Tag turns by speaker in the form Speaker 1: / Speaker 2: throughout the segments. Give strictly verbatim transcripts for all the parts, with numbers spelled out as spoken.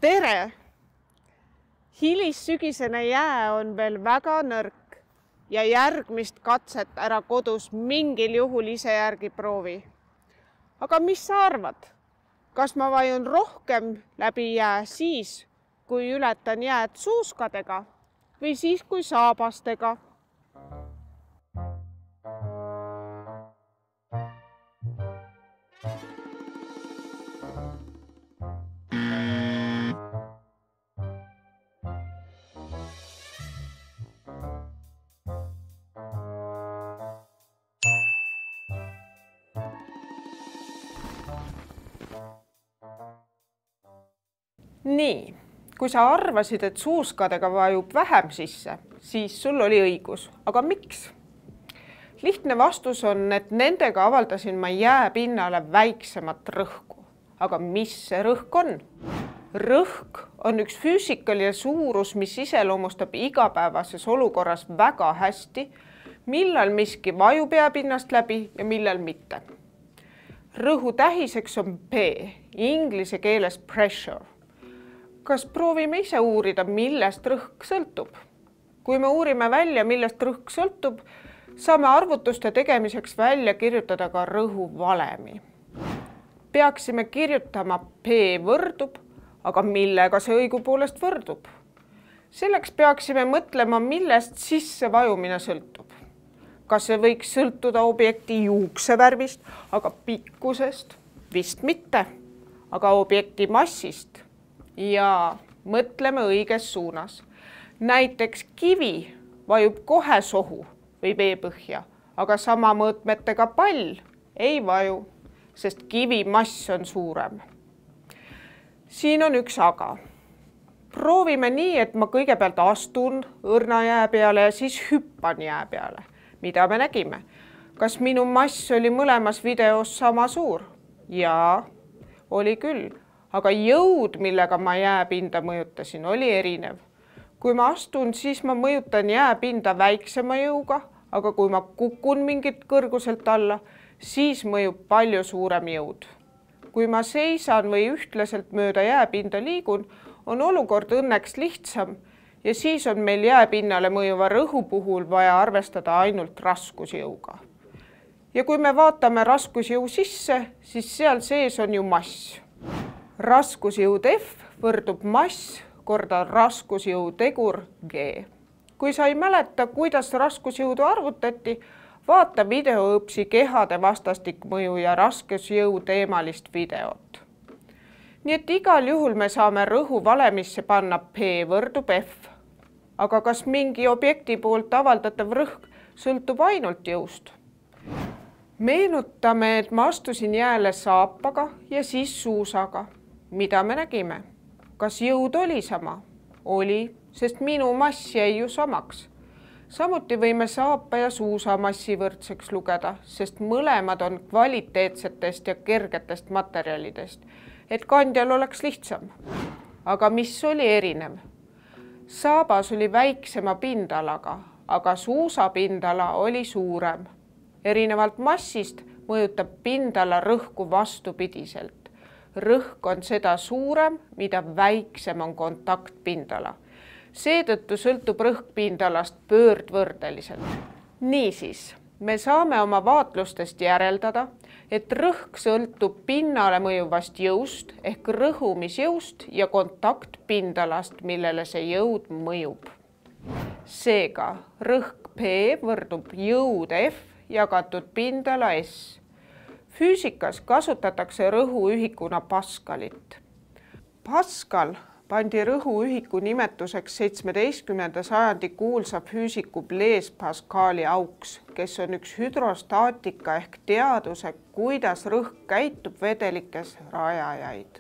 Speaker 1: Tere! Hilissügisene jää on veel väga nõrk ja järgmist katset ära kodus mingil juhul ise järgi proovi. Aga mis sa arvad? Kas ma vajun rohkem läbi jää siis, kui ületan jääd suuskadega või siis, kui saabastega? Nii, kui sa arvasid, et suuskadega vajub vähem sisse, siis sul oli õigus. Aga miks? Lihtne vastus on, et nendega avaldasin ma jääpinnale väiksemat rõhku. Aga mis see rõhk on? Rõhk on üks füüsikaline suurus, mis iseloomustab igapäevases olukorras väga hästi, millal miski vajub jääpinnast läbi ja millal mitte. Rõhu tähiseks on P, inglise keeles pressure. Kas proovime ise uurida, millest rõhk sõltub? Kui me uurime välja, millest rõhk sõltub, saame arvutuste tegemiseks välja kirjutada ka rõhu valemi. Peaksime kirjutama P võrdub, aga millega see õigupoolest võrdub? Selleks peaksime mõtlema, millest sisse vajumine sõltub. Kas see võiks sõltuda objekti juuksevärvist, aga pikkusest? Vist mitte, aga objekti massist. Ja mõtleme õiges suunas. Näiteks kivi vajub kohe sohu või veepõhja, aga sama mõõtmetega pall ei vaju, sest kivi mass on suurem. Siin on üks aga. Proovime nii, et ma kõigepealt astun õrna jää peale ja siis hüppan jää peale. Mida me nägime? Kas minu mass oli mõlemas videos sama suur? Jaa, oli küll. Aga jõud, millega ma jääpinda mõjutasin, oli erinev. Kui ma astun, siis ma mõjutan jääpinda väiksema jõuga, aga kui ma kukun mingit kõrguselt alla, siis mõjub palju suurem jõud. Kui ma seisan või ühtlaselt mööda jääpinda liigun, on olukord õnneks lihtsam ja siis on meil jääpinnale mõjuva rõhu puhul vaja arvestada ainult raskusjõuga. Ja kui me vaatame raskusjõu sisse, siis seal sees on ju mass. Raskusjõud F võrdub mass korda raskusjõu tegur G. Kui sa ei mäleta, kuidas raskusjõudu arvutati, vaata videoõpsi kehade vastastikmõju ja raskusjõu teemalist videot. Nii et igal juhul me saame rõhu valemisse panna P võrdub F. Aga kas mingi objekti poolt avaldatav rõhk sõltub ainult jõust? Meenutame, et ma astusin jääle saapaga ja siis suusaga. Mida me nägime? Kas jõud oli sama? Oli, sest minu mass jäi ju samaks. Samuti võime saapa ja suusa massi võrdseks lugeda, sest mõlemad on kvaliteetsetest ja kergetest materjalidest, et kandjal oleks lihtsam. Aga mis oli erinev? Saabas oli väiksema pindalaga, aga suusa pindala oli suurem. Erinevalt massist mõjutab pindala rõhku vastupidiselt. Rõhk on seda suurem, mida väiksem on kontaktpindala. Seetõttu sõltub rõhk pindalast pöördvõrdeliselt. Niisiis, me saame oma vaatlustest järeldada, et rõhk sõltub pinnale mõjuvast jõust ehk rõhumisjõust ja kontaktpindalast, millele see jõud mõjub. Seega, rõhk P võrdub jõud F jagatud pindala S. Füüsikas kasutatakse rõhuühikuna Paskalit. Paskal pandi rõhuühiku nimetuseks seitsmeteistkümnenda sajandi kuulsa füüsiku Blaise Pascali auks, kes on üks hüdrostaatika ehk teaduse, kuidas rõhk käitub vedelikes rajajaid.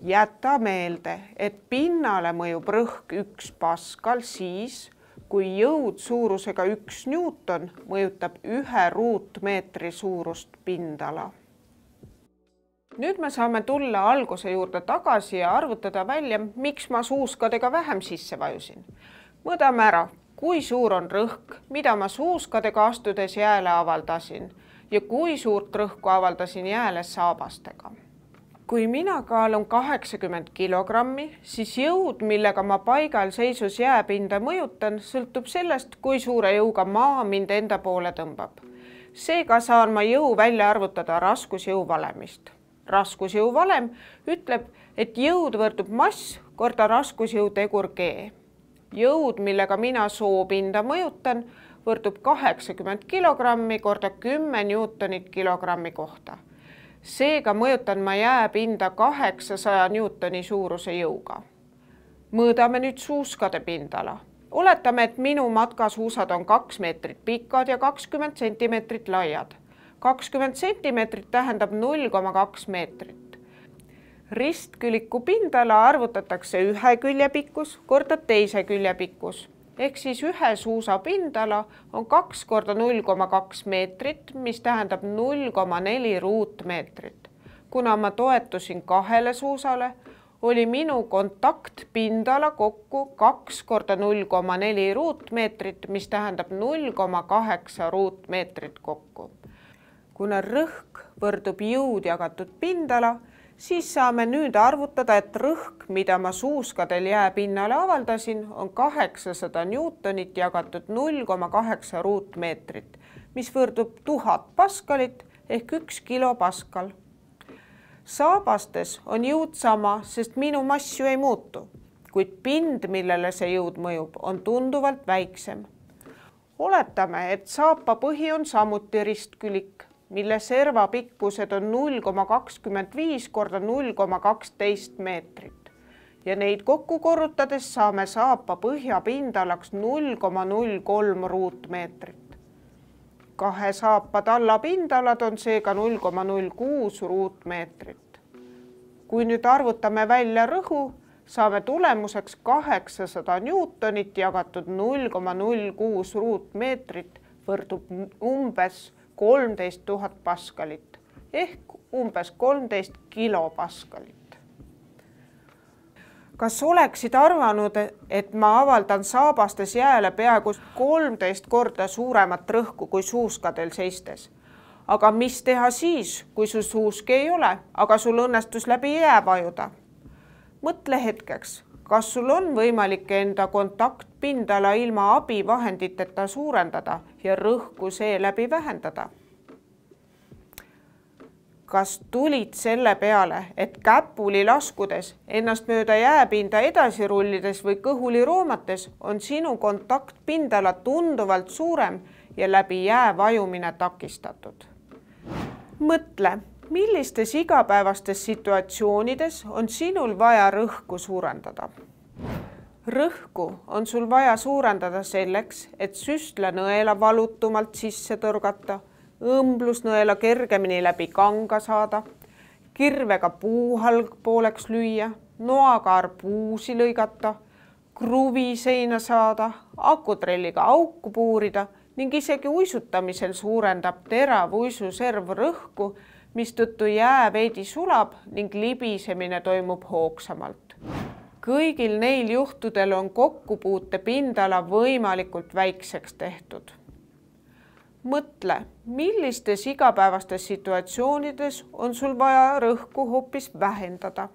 Speaker 1: Jäta meelde, et pinnale mõjub rõhk üks Paskal siis, kui jõud suurusega üks Newton mõjutab ühe ruutmeetri suurust pindala. Nüüd me saame tulla alguse juurde tagasi ja arvutada välja, miks ma suuskadega vähem sisse vajusin. Mõõdame ära, kui suur on rõhk, mida ma suuskadega astudes jääle avaldasin ja kui suurt rõhku avaldasin jääle saabastega. kui mina kaalun kaheksakümmend kilogrammi, siis jõud, millega ma paigal seisus jääpinda mõjutan, sõltub sellest, kui suure jõuga maa mind enda poole tõmbab. Seega saan ma jõu välja arvutada raskusjõu valemist. Raskusjõu valem ütleb, et jõud võrdub mass korda raskusjõu tegur G. Jõud, millega mina soopinda mõjutan, võrdub kaheksakümmend kilogrammi korda kümme newtonit kilogrammi kohta. Seega mõjutan ma jääpinda kaheksasaja newtoni suuruse jõuga. Mõõdame nüüd suuskade pindala. Oletame, et minu matkasuusad on kaks meetrit pikad ja kakskümmend sentimeetrit laiad. kakskümmend sentimeetrit tähendab null koma kaks meetrit. Ristküliku pindala arvutatakse ühe külje pikkus korda teise külje pikkus. Ehk siis ühe suusa pindala on kaks korda null koma kaks meetrit, mis tähendab null koma neli ruutmeetrit. Kuna ma toetusin kahele suusale, oli minu kontaktpindala kokku kaks korda null koma neli ruutmeetrit, mis tähendab null koma kaheksa ruutmeetrit kokku. Kuna rõhk võrdub jõud jagatud pindala, siis saame nüüd arvutada, et rõhk, mida ma suuskadel jääpinnale avaldasin, on kaheksasada newtonit jagatud null koma kaheksa ruutmeetrit, mis võrdub tuhat paskalit ehk üks kilopaskal. Saabastes on jõud sama, sest minu mass ju ei muutu, kuid pind, millele see jõud mõjub, on tunduvalt väiksem. Oletame, et saapa põhi on samuti ristkülik, mille serva pikkused on null koma kakskümmend viis korda null koma kaksteist meetrit ja neid kokku korrutades saame saapa põhja pindalaks null koma null kolm ruutmeetrit. Kahe saapa talla pindalad on seega null koma null kuus ruutmeetrit. Kui nüüd arvutame välja rõhu, saame tulemuseks kaheksasada newtonit jagatud null koma null kuus ruutmeetrit võrdub umbes kolmteist tuhat paskalit ehk umbes kolmteist kilopaskalit. Kas oleksid arvanud, et ma avaldan saabastes jääle peaaegu kolmteist korda suuremat rõhku kui suuskadel seistes? Aga mis teha siis, kui su suuski ei ole, aga sul õnnestus läbi jää vajuda? Mõtle hetkeks, kas sul on võimalik enda kontaktpindala ilma abivahenditeta suurendada ja rõhku seeläbi vähendada? Kas tulid selle peale, et käpuli laskudes, ennast mööda jääpinda edasi rullides või kõhuli roomates on sinu kontaktpindala tunduvalt suurem ja läbi jää vajumine takistatud? Mõtle, millistes igapäevastes situatsioonides on sinul vaja rõhku suurendada? Rõhku on sul vaja suurendada selleks, et süstlanõela valutumalt sisse tõrgata, õmblusnõela kergemini läbi kanga saada, kirvega puuhalg pooleks lüüa, noaga arbuusi lõigata, kruvi seina saada, akutrelliga auku puurida ning isegi uisutamisel suurendab terav uisuserv rõhku, mistõttu jää veidi sulab ning libisemine toimub hoogsamalt. Kõigil neil juhtudel on kokkupuute pindala võimalikult väikseks tehtud. Mõtle, millistes igapäevastes situatsioonides on sul vaja rõhku hoopis vähendada.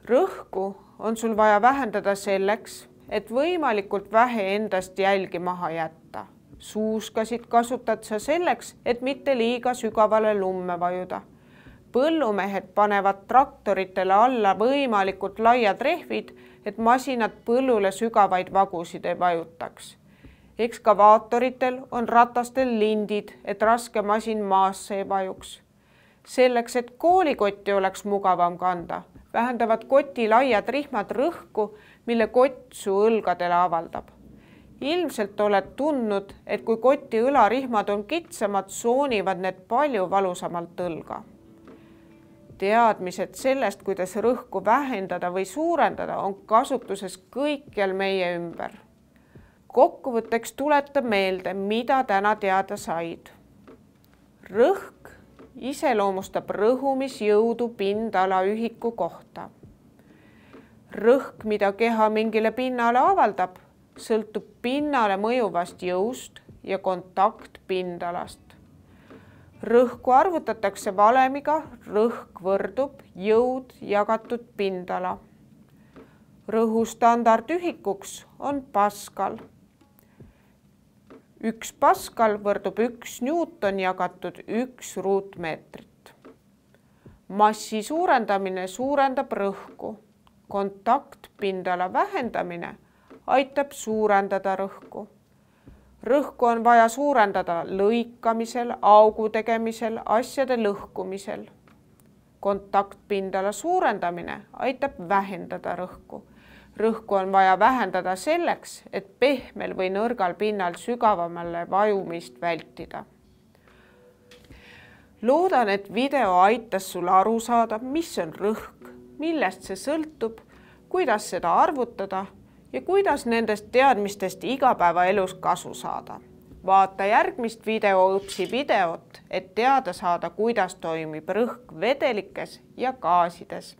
Speaker 1: Rõhku on sul vaja vähendada selleks, et võimalikult vähe endast jälgi maha jätta. Suuskasid kasutad sa selleks, et mitte liiga sügavale lumme vajuda. Põllumehed panevad traktoritele alla võimalikult laiad rehvid, et masinad põllule sügavaid vagusid ei vajutaks. Ekskavaatoritel on ratastel lindid, et raske masin maasse ei vajuks. Selleks, et koolikotti oleks mugavam kanda, vähendavad koti laiad rihmad rõhku, mille kott su õlgadele avaldab. Ilmselt oled tundnud, et kui koti õlarihmad on kitsamad, soonivad need palju valusamalt õlga. Teadmised sellest, kuidas rõhku vähendada või suurendada, on kasutuses kõikjal meie ümber. Kokkuvõtteks tuleta meelde, mida täna teada said. Rõhk iseloomustab rõhumisjõudu pindala ühiku kohta. Rõhk, mida keha mingile pinnale avaldab, sõltub pinnale mõjuvast jõust ja kontaktpindalast. Rõhku arvutatakse valemiga, rõhk võrdub jõud jagatud pindala. Rõhu standardühikuks on paskal. Üks paskal võrdub üks newton jagatud üks ruutmeetrit. Massi suurendamine suurendab rõhku. Kontaktpindala vähendamine aitab suurendada rõhku. Rõhku on vaja suurendada lõikamisel, augu tegemisel, asjade lõhkumisel. Kontaktpindala suurendamine aitab vähendada rõhku. Rõhku on vaja vähendada selleks, et pehmel või nõrgal pinnal sügavamale vajumist vältida. Loodan, et video aitas sul aru saada, mis on rõhk, millest see sõltub, kuidas seda arvutada ja kuidas nendest teadmistest igapäevaelus kasu saada. Vaata järgmist videoõpsi videot, et teada saada, kuidas toimib rõhk vedelikes ja gaasides.